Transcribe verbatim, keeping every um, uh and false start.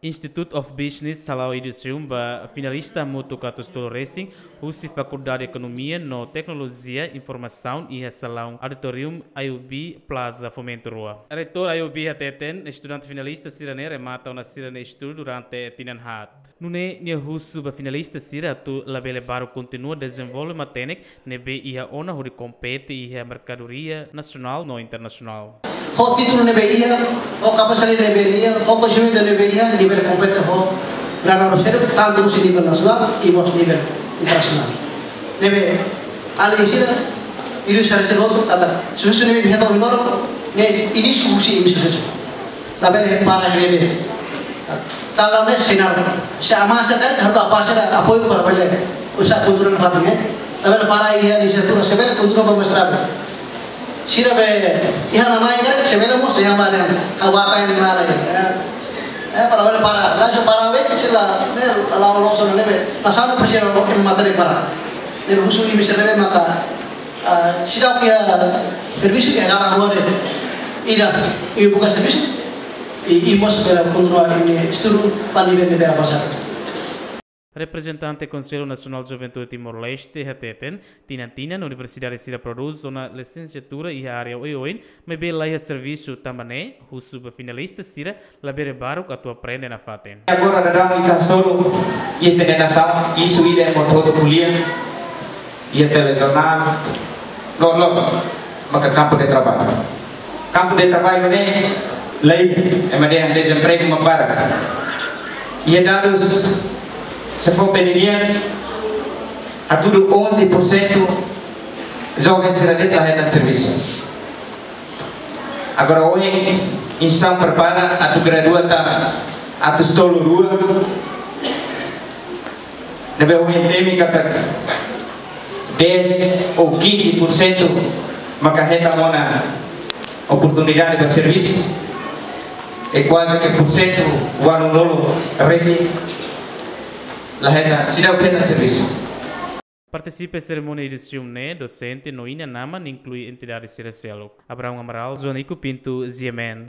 Institute of Business hala'o edisaun ba finalista hamutuk atus tolu resin, husi Fakuldade Ekonomia no Teknolojia Informasaun iha salaun auditorium I O B Plaza Fomento rua. Reitór I O B hateten, estudante finalista sira-ne'e remata ona sira-nia estudu durante tinan haat. Nune'e nia husu ba finalista sira atu labele baruk kontinua dezenvolve matenek ne'ebé iha ona hodi kompete iha merkadoria nasionál no internasionál. Ho títulu ne'ebé iha, ho kapasidade ne'ebé iha, ho koñesimentu ne'ebé iha, nivel kompete ho grau seluk, tantu husi nivel nasionál i mós nivel internasionál. Ne'ebé alin sira, ilustra sira hotu katak, susu ne'ebé iha tau lima, ne'e inísiu husi inísiu susu. Labele para ne'ebé. Tala ne'e sinál. Se amasa kan, harus apa sira apoiu para bele uza kultura nafatin, eh. Labele para iha lisenciatura, se bele kontinua ba mestradu. Sira be iha nanai kan, se bele mós iha mana, hawata yang nanai. Eh, eh, para bele para, langsung para be, sila, ne'e, lau loso ne'ebé. Nasaun presiza ba matéria para. Ne'ebé husu imi sira ne'ebé maka, ah, sira ke servisu ke dalam dua de. Ida, imi buka servisu. I, i mós bele kontinua imi estudu ba nivel ne'ebé avansadu. Reprezentante Konsellu Nasionál Juventude Timor-Leste hateten, tinan-tinan universidade sira prodús ona lisenciatura iha área oioin, maibé laiha servisu, tanba ne'e husu ba finalista sira labele baruk atu aprende nafatin. Agora daudaun ita hasoru iha ita-nia nasaun, isu ida ema hotu ko'alia iha telejornál, loroloron maka kampu de traballu. Kampu de traballu ne'e laiha, ema dehan dezempregu mak barak. Iha dadus SEFOPE nian, hatudu onze por cento joven sira de'it la hetan servisu. Agora ohin instituisaun prepara atu gradua tan atus tolu rua. Ne'ebé ohin temi katak dez ou quinze por cento maka hetan ona oportunidade ba servisu. I kuaze ke porsentu ualunulu resin la hetan, seidauk hetan servisu. Partisipa serimónia edisaun ne'e, dosente no inan-aman, inklui entidade sira seluk. Abraão Amaral, Joanico Pinto, G M N.